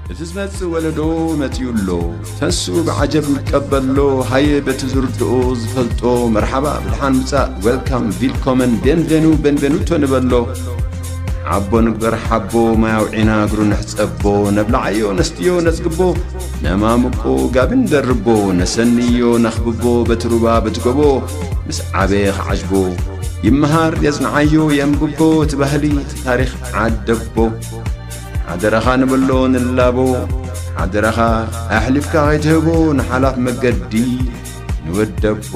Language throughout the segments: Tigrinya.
እቲ ዝመጽእ ወለዶ መጺኡ ኣሎ። ተስኡ ብዓጀብ ይቀበሎ። ሃየ በቲ ዝርድኦ ዝፈልጦ መርሓባ ብድሓን ምጻእ፣ ዌልካም፣ ቪልኮመን፣ ቤንቬኑ፣ ቤንቬኑቶ ንበሎ። ዓቦ ንግበር ሓቦ፣ ማይ ኣውዒና እግሩ ንሕጸቦ። ነብልዓዮ ነስትዮ ነጽግቦ፣ ነማምቆ ጋቢ ንደርቦ። ነሰንዮ ነኽብቦ በቲ ሩባ በቲ ጎቦ። ምስ ዓበየ ክዓጅቦ ይመሃር የጽንዓዮ የንብቦ። እቲ ባህሊ እቲ ታሪኽ ዓደቦ። ሓደራኻ ንበሎ ንላቦ። ሓደራኻ ኣሕሊፍካ ከይትህቦ ንሓላፍ መገዲ ንወደቦ።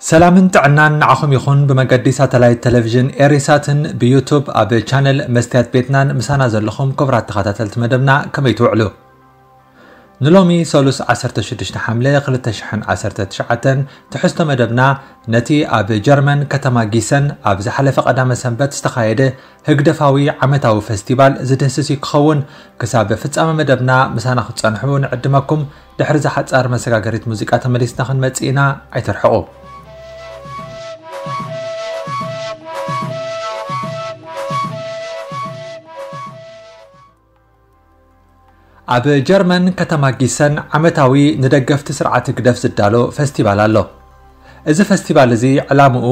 ሰላምን ጥዕናን ንዓኹም ይኹን። ብመገዲ ሳተላይት ቴሌቪዥን ኤሪሳትን ብዩቱብ ኣብ ቻነል መስትያት ቤትናን ምሳና ዘለኹም ክቡራት ተኸታተልቲ መደብና ከመይ ትውዕሉ? ንሎሚ ሰሉስ ዓሰርተ ሽዱሽተ ሓምለ ክልተ ሽሕን ዓሰርተ ትሽዓተን ትሕዝቶ መደብና ነቲ ኣብ ጀርመን ከተማ ጊሰን ኣብ ዝሓለፈ ቀዳመ ሰንበት ዝተኻየደ ህግደፋዊ ዓመታዊ ፈስቲቫል ዝድህስስ እዩ ክኸውን። ክሳብ ፍጻመ መደብና ምሳና ክትጸንሑ ንዕድመኩም። ድሕሪ እዛ ሓጻር መሰጋገሪት ሙዚቃ ተመሊስና ክንመጽእ ኢና። ኣይትርሕቑ። ኣብ ጀርመን ከተማ ጊሰን ዓመታዊ ንደገፍቲ ስርዓት ህግደፍ ዝዳሎ ፈስቲቫል ኣሎ። እዚ ፈስቲቫል እዚ ዕላምኡ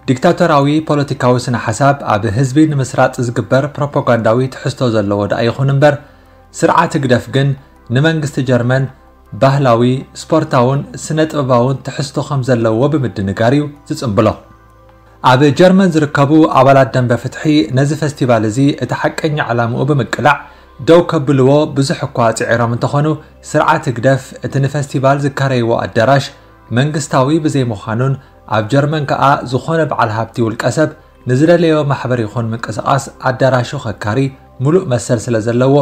ዲክታቶራዊ ፖለቲካዊ ስነ ሓሳብ ኣብ ህዝቢ ንምስራጽ ዝግበር ፕሮፓጋንዳዊ ትሕዝቶ ዘለዎ ደኣ ይኹን እምበር፣ ስርዓት ህግደፍ ግን ንመንግስቲ ጀርመን ባህላዊ፣ ስፖርታውን ስነ ጥበባውን ትሕዝቶ ከም ዘለዎ ብምድንጋር እዩ ዝጽንብሎ። ኣብ ጀርመን ዝርከቡ ኣባላት ደንበ ፍትሒ ነዚ ፈስቲቫል እዚ እቲ ሓቀኛ ዕላምኡ ብምቅላዕ ደው ከብልዎ ብዙሕ እኳ ጽዒሮም እንተኾኑ፣ ስርዓት ህግደፍ እቲ ንፈስቲቫል ዝካረይዎ ኣዳራሽ መንግስታዊ ብዘይምዃኑን ኣብ ጀርመን ከኣ ዝኾነ በዓል ሃብቲ ውልቀ ሰብ ንዝደለዮ ማሕበር ይኹን ምንቅስቓስ ኣዳራሹ ከካሪ ምሉእ መሰል ስለ ዘለዎ፣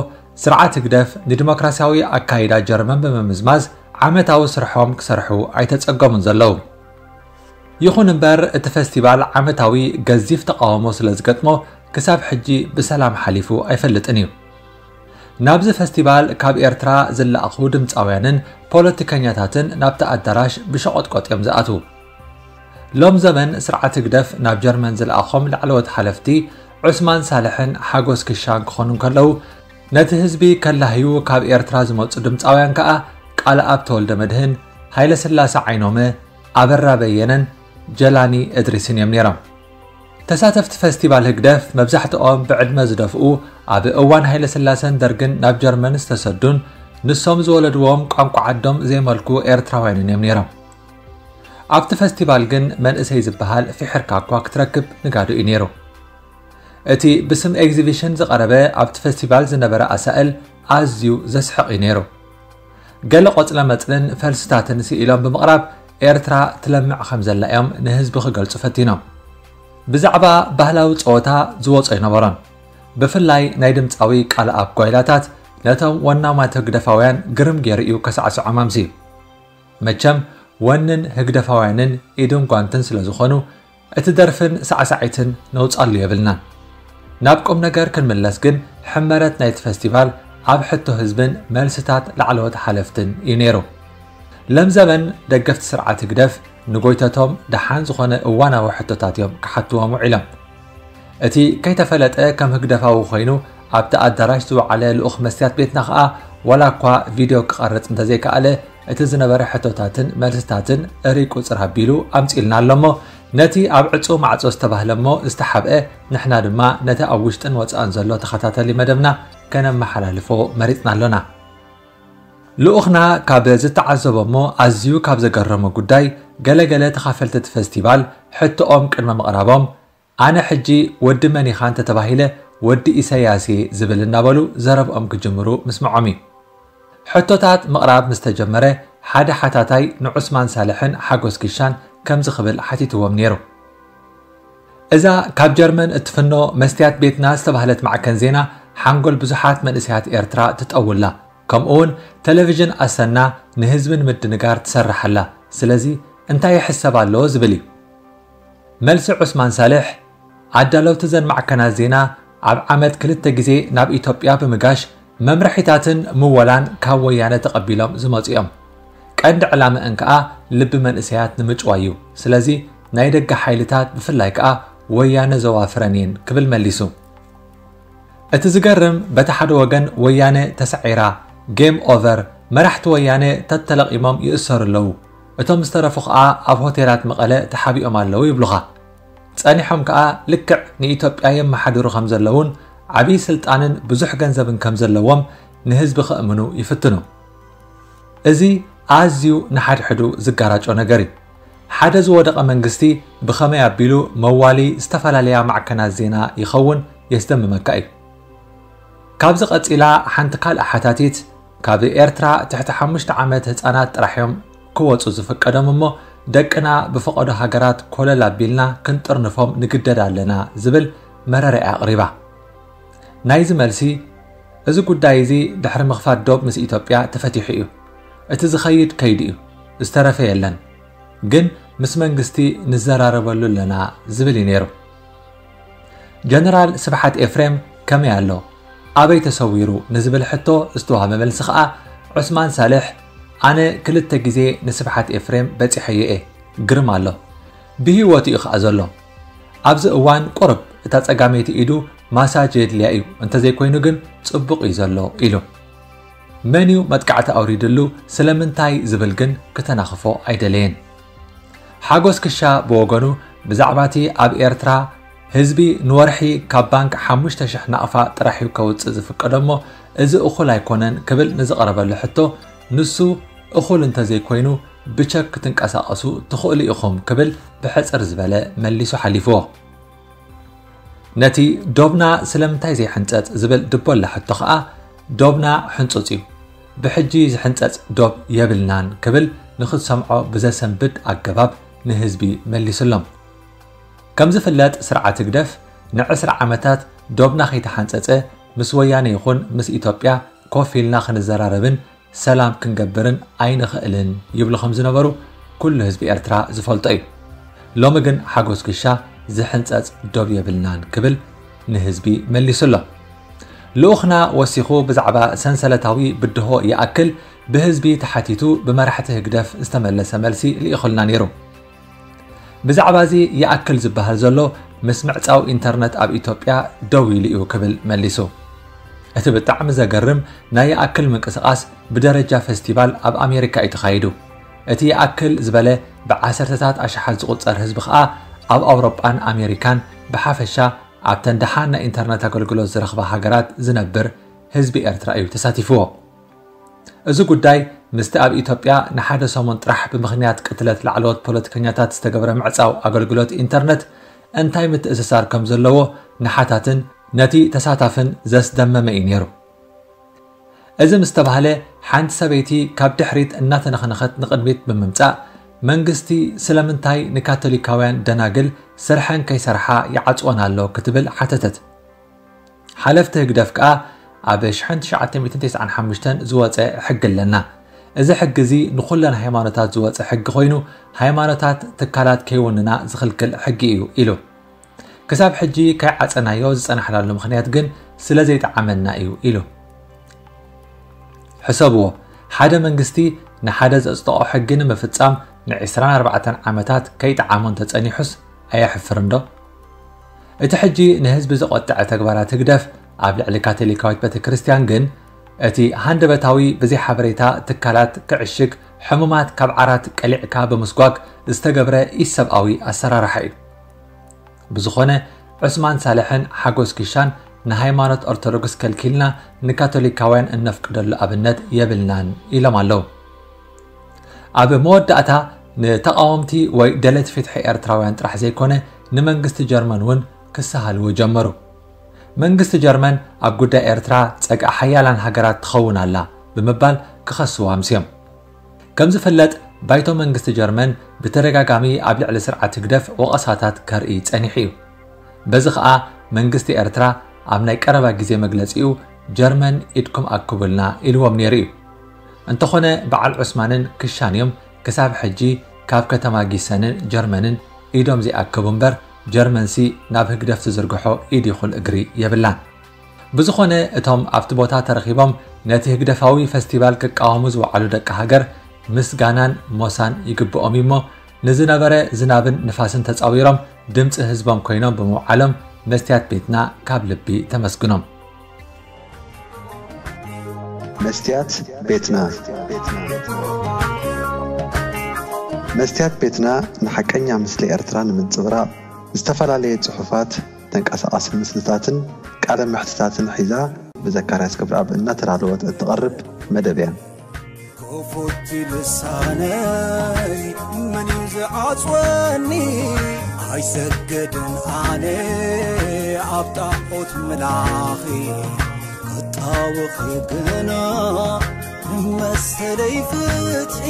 ስርዓት ህግደፍ ንዲሞክራሲያዊ ኣካይዳ ጀርመን ብምምዝማዝ ዓመታዊ ስርሖም ክሰርሑ ኣይተጸገሙን ዘለዉ። ይኹን እምበር፣ እቲ ፈስቲቫል ዓመታዊ ገዚፍ ተቓውሞ ስለ ዝገጥሞ፣ ክሳብ ሕጂ ብሰላም ሓሊፉ ኣይፈልጥን እዩ። ናብዚ ፈስቲቫል ካብ ኤርትራ ዝለኣኹ ድምጻውያንን ፖለቲከኛታትን ናብቲ ኣዳራሽ ብሸቖጥቆጥ እዮም ዝኣትዉ። ሎም ዘመን ስርዓት ህግደፍ ናብ ጀርመን ዝለኣኾም ላዕለዎት ሓለፍቲ ዑስማን ሳልሕን ሓጎስ ክሻን ክኾኑ እንከለዉ፣ ነቲ ህዝቢ ከላህዩ ካብ ኤርትራ ዝመጹ ድምጻውያን ከኣ ቃልኣብ ተወልደ መድህን፣ ሃይለስላሰ ዓይኖመ፣ ኣበራ በየነን ጀላኒ እድሪስን እዮም ነይሮም። ተሳተፍቲ ፈስቲቫል ህግደፍ መብዛሕትኦም ብዕድመ ዝደፍኡ፣ ኣብ እዋን ሃይለስላሰን ደርግን ናብ ጀርመን ዝተሰዱን ንሶም ዝወለድዎም ቋንቋ ዓዶም ዘይመልኩ ኤርትራውያንን እዮም ነይሮም። ኣብቲ ፈስቲቫል ግን መንእሰይ ዝበሃል ፊሕርካ እኳ ክትረክብ ንጋዶ እዩ ነይሩ። እቲ ብስም ኤግዚቢሽን ዝቐረበ ኣብቲ ፈስቲቫል ዝነበረ ኣሳእል ኣዝዩ ዘስሕቕ እዩ ነይሩ። ገለ ቆጽለ መጽልን ፈልስታትን ስኢሎም ብምቕራብ ኤርትራ ትለምዕ ከም ዘላ እዮም ንህዝቢ ክገልጹ ፈቲኖም። ብዛዕባ ባህላዊ ጸወታ ዝወጾ ኣይነበሮን። ብፍላይ ናይ ድምጻዊ ቃልኣብ ጓይላታት ነቶም ወናማት ህግደፋውያን ግርም ገይሩ እዩ ከሳዕስዖም ኣምስዩ። መቸም ወንን ህግደፋውያንን ኢድን ጓንትን ስለ ዝኾኑ፣ እቲ ደርፍን ሳዕሳዒትን ነውጻሉ የብልናን። ናብ ቁም ነገር ክንምለስ ግን፣ ሕመረት ናይቲ ፈስቲቫል ኣብ ሕቶ ህዝብን መልስታት ላዕለዎት ሓለፍትን እዩ ነይሩ። ለም ዘበን ደገፍቲ ስርዓት ህግደፍ ንጎይተቶም ደሓን ዝኾነ እዋናዊ ሕቶታት እዮም ክሓትዎም ውዒሎም። እቲ ከይተፈለጠ ከም ህግደፋዊ ኮይኑ ኣብቲ ኣዳራሽ ዝወዓለ ልኡኽ መስትያት ቤትና ከኣ፣ ዋላ እኳ ቪድዮ ክቐርጽ እንተዘይከኣለ፣ እቲ ዝነበረ ሕቶታትን መልስታትን እርይ ቁጽር ኣቢሉ ኣምጺኡልና ኣሎ እሞ፣ ነቲ ኣብ ዕጹው ማዕጾ ዝተባህለ እሞ ዝተሓብአ፣ ንሕና ድማ ነቲ ኣብ ውሽጥን ወጻእን ዘሎ ተኸታተሊ መደብና ከነመሓላልፎ መሪጽና ኣሎና። ልኡኽና ካብ ዝተዓዘቦ እሞ ኣዝዩ ካብ ዘገረሞ ጉዳይ፣ ገለ ገለ ተኻፈልቲ እቲ ፈስቲቫል ሕቶኦም ቅድሚ ምቕራቦም፣ ኣነ ሕጂ ወዲ መን ኢኻ እንተተባሂለ፣ ወዲ ኢሰያስ እየ ዝብል እናበሉ ዘረብኦም ክጅምሩ ምስምዖም እዩ። ሕቶታት ምቕራብ ምስ ተጀመረ፣ ሓደ ሓታታይ ንዑስማን ሳልሕን ሓጎስ ኪሻን ከምዚ ክብል ሓቲትዎም ነይሩ። እዛ ካብ ጀርመን እትፍኖ መስትያት ቤትና ዝተባህለት ማዕከን ዜና፣ ሓንጎል ብዙሓት መንእሰያት ኤርትራ ትጠውላ፣ ከምኡውን ቴሌቪዥን ኣሰና ንህዝቢ ንምድንጋር ትሰርሕ ኣላ። ስለዚ እንታይ ይሕሰብ ኣሎ ዝብል እዩ። መልሲ ዑስማን ሳልሕ፣ ኣዳለውቲ ዘን ማዕከናት ዜና ኣብ ዓመት ክልተ ግዜ ናብ ኢትዮጵያ ብምጋሽ መምርሒታትን ምወላን ካብ ወያነ ተቐቢሎም ዝመጹ እዮም። ቀንዲ ዕላመአን ከኣ ልቢ መንእሰያት ንምጭዋይ እዩ። ስለዚ ናይ ደገ ሓይልታት ብፍላይ ከኣ ወያነ ዘዋፍረን እየን ክብል መሊሱ። እቲ ዝገርም፣ በቲ ሓደ ወገን ወያነ ተሳዒራ፣ ጌም ኦቨር፣ መራሕቲ ወያነ ተተለቒሞም ይእሰሩ ኣለዉ፣ እቶም ዝተረፉ ከኣ ኣብ ሆቴላት መቐለ ተሓቢኦም ኣለዉ ይብሉኻ። ጸኒሖም ከኣ ልክዕ ንኢትዮጵያ የመሓድሩ ከም ዘለዉን ዓብዪ ስልጣንን ብዙሕ ገንዘብን ከም ዘለዎም ንህዝቢ ከእምኑ ይፍትኑ። እዚ ኣዝዩ ንሓድሕዱ ዝጋራጮ ነገር እዩ። ሓደ ዝወደቐ መንግስቲ ብኸመይ ኣቢሉ መዋሊ ዝተፈላለያ ማዕከናት ዜና ይኸውን የስደምመካ እዩ። ካብዚ ቀጺላ ሓንቲ ካልእ ሓታቲት፣ ካብ ኤርትራ ትሕቲ ሓሙሽተ ዓመት ህጻናት ጥራሕ እዮም ክወጹ ዝፍቀዶም እሞ ደቅና ብፈቐዶ ሃገራት ኮለል ኣቢልና ክንጥርንፎም ንግደድ ኣለና ዝብል መረረኣ ኣቕሪባ። ናይዚ መልሲ፣ እዚ ጉዳይ እዚ ድሕሪ ምኽፋት ዶብ ምስ ኢትዮጵያ ተፈቲሑ እዩ። እቲ ዝኸይድ ከይዱ እዩ፣ ዝተረፈ የለን። ግን ምስ መንግስቲ ንዘራረበሉ ኣለና ዝብል እዩ ነይሩ። ጀነራል ስብሓት ኤፍሬም ከመይ ኣሎ? ኣበይ ተሰዊሩ? ንዝብል ሕቶ ዝተዋህበ መልሲ ከኣ ዑስማን ሳልሕ፣ ኣነ ክልተ ግዜ ንስብሓት ኤፍሬም በጺሐዮ እየ። ግርም ኣሎ። ብህይወቱ እዩ ከኣ ዘሎ። ኣብዚ እዋን ቁርብ እታ ጸጋመይቲ ኢዱ ማሳጅ የድልያ እዩ፣ እንተዘይኮይኑ ግን ጽቡቕ እዩ ዘሎ ኢሉ። መን እዩ መጥቃዕቲ ኣውሪድሉ ስለምንታይ ዝብል ግን ክተናኽፎ ኣይደለየን። ሓጎስ ክሻ ብወገኑ ብዛዕባ እቲ ኣብ ኤርትራ ህዝቢ ንወርሒ ካብ ባንክ ሓሙሽተ ሽሕ ናቕፋ ጥራሕ እዩ ከውጽእ ዝፍቀዶ እሞ እዚ እኹል ኣይኮነን ክብል ንዝቐረበሉ ሕቶ ንሱ እኹል እንተዘይኮይኑ ብቸክ ክትንቀሳቐሱ ትኽእሉ ኢኹም ክብል ብሕጽር ዝበለ መሊሱ ሓሊፍዎ። ነቲ ዶብና ስለምንታይ ዘይሕንጸጽ ዝብል ድቦላ ሕቶ ኸኣ ዶብና ሕንጹጽ እዩ፣ ብሕጂ ዝሕንጸጽ ዶብ የብልናን ክብል ንኽትሰምዖ ብዘሰንብድ ኣገባብ ንህዝቢ መሊሱሎም። ከም ዝፍለጥ ስርዓት ህግደፍ ንዕስራ ዓመታት ዶብና ከይተሓንጸጸ ምስ ወያነ ይኹን ምስ ኢትዮጵያ ኮፍ ኢልና ክንዘራረብን ሰላም ክንገብርን ኣይንኽእልን ይብሉ ከም ዝነበሩ ኩሉ ህዝቢ ኤርትራ ዝፈልጦ እዩ። ሎሚ ግን ሓጎስ ክሻ ዝሕንጸጽ ዶብ የብልናን ክብል ንህዝቢ መሊሱ ኣሎ። ልኡኽና ወሲኹ ብዛዕባ ሰንሰለታዊ ብድሆ ይኣክል ብህዝቢ ተሓቲቱ ብመራሕቲ ህግደፍ ዝተመለሰ መልሲ ልኢኹልና ነይሩ። ብዛዕባ እዚ ይኣክል ዝበሃል ዘሎ ምስ ምዕጻው ኢንተርነት ኣብ ኢትዮጵያ ደው ኢሉ እዩ ክብል መሊሱ። እቲ ብጣዕሚ ዘገርም ናይ ይኣክል ምንቅስቓስ ብደረጃ ፌስቲቫል ኣብ ኣሜሪካ እዩ ተኻይዱ። እቲ ይኣክል ዝበለ ብዓሰርተታት ኣሽሓት ዝቑጸር ህዝቢ ኸኣ ኣብ ኣውሮጳን ኣሜሪካን ብሓፈሻ ኣብተን ደሓን ናይ ኢንተርነት ኣገልግሎት ዝረኽባ ሃገራት ዝነብር ህዝቢ ኤርትራ እዩ ተሳቲፍዎ። እዚ ጉዳይ ምስቲ ኣብ ኢትዮጵያ ንሓደ ሰሙን ጥራሕ ብምኽንያት ቅትለት ላዕለዎት ፖለቲከኛታት ዝተገብረ ምዕጻው ኣገልግሎት ኢንተርነት እንታይ ምትእስሳር ከም ዘለዎ ንሓታትን ነቲ ተሳታፍን ዘስደመመ እዩ ነይሩ። እዚ ምስ ተባህለ ሓንቲ ሰበይቲ ካብ ድሕሪት እናተነኽነኸት ንቕድሚት ብምምጻእ መንግስቲ ስለምንታይ ንካቶሊካውያን ደናግል ስርሐን ከይሰርሓ ይዓጽወን ኣሎ ክትብል ሓተተት። ሓለፍቲ ህግደፍ ከኣ ኣብ ሽሕን ትሽዓተ ሚእትን ተስዓን ሓሙሽተን ዝወጸ ሕጊ ኣለና። እዚ ሕጊ እዚ ንኹለን ሃይማኖታት ዝወጸ ሕጊ ኮይኑ ሃይማኖታት ትካላት ከይውንና ዝኽልክል ሕጊ እዩ ኢሉ። ክሳብ ሕጂ ከይዓጸናዮ ዝጸናሕናሉ ምኽንያት ግን ስለ ዘይጠዓመና እዩ ኢሉ። ሕሰብዎ፣ ሓደ መንግስቲ ንሓደ ዘጽደቖ ሕጊ ንምፍጻም ንዕስራን ኣርባዕተን ዓመታት ከይጠዓሞ እንተጸኒሑስ ኣየሕፍርን ዶ? እቲ ሕጂ ንህዝቢ ዘቖጠዐ ተግባራት ህግደፍ ኣብ ልዕሊ ካቶሊካዊት ቤተ ክርስቲያን ግን እቲ ሃንደበታዊ ብዘይ ሓበሬታ ትካላት ክዕሽግ ሕሙማት ካብ ዓራት ቀሊዕካ ብምስጓግ ዝተገብረ ኢሰብኣዊ ኣሰራርሓ እዩ። ብዝኾነ ዑስማን ሳልሕን ሓጎስ ኪሻን ንሃይማኖት ኦርቶዶክስ ከልኪልና ንካቶሊካውያን እነፍቅደሉ ኣብነት የብልናን ኢሎም ኣለዉ። ኣብ መወዳእታ ንተቓወምቲ ወይ ደለቲ ፍትሒ ኤርትራውያን ጥራሕ ዘይኮነ ንመንግስቲ ጀርመን እውን ክሰሃልዎ ጀመሩ። መንግስቲ ጀርመን ኣብ ጉዳይ ኤርትራ ጸግዒ ሓያላን ሃገራት ትኸውን ኣላ ብምባል ክኸስዎ ኣምስዮም። ከም ዝፍለጥ ባይቶ መንግስቲ ጀርመን ብተደጋጋሚ ኣብ ልዕሊ ስርዓት ህግደፍ ወቐሳታት ከርኢ ጸኒሑ እዩ። በዚ ኸኣ መንግስቲ ኤርትራ ኣብ ናይ ቀረባ ግዜ መግለጺኡ ጀርመን ኢድኩም ኣክቡልና ኢልዎም ነይሩ እዩ። እንተኾነ በዓል ዑስማንን ክሻን እዮም ክሳብ ሕጂ ካብ ከተማ ጊሰንን ጀርመንን ኢዶም ዘይኣክቡ እምበር ጀርመንሲ ናብ ህግደፍ ትዝርግሖ ኢድ ይኹን እግሪ የብላን። ብዝኾነ እቶም ኣብቲ ቦታ ተረኺቦም ነቲ ህግደፋዊ ፈስቲቫል ክቃወሙ ዝወዓሉ ደቂ ሃገር ምስጋናን ሞሳን ይግብኦም እዩሞ ንዝነበረ ዝናብን ንፋስን ተጻዊሮም ድምፂ ህዝቦም ኮይኖም ብምውዓሎም መስትያት ቤትና ካብ ልቢ ተመስግኖም። መስትያት ቤትና መስትያት ቤትና ንሓቀኛ ምስሊ ኤርትራ ንምንጽብራቕ ዝተፈላለየ ጽሑፋት፣ ተንቀሳቓሲ ምስልታትን ቃለ መሕትታትን ሒዛ ብዘካርያስ ገብረኣብ እናተዳለወት እትቐርብ መደብ እያ። ክፉት ልሳነይ መን እዩ ዝዓጽወኒ? ኣይሰገድን ኣነ ኣብ ጣዖት ምላኺ ክጣወኺ ግና መሰለይ ፍትሒ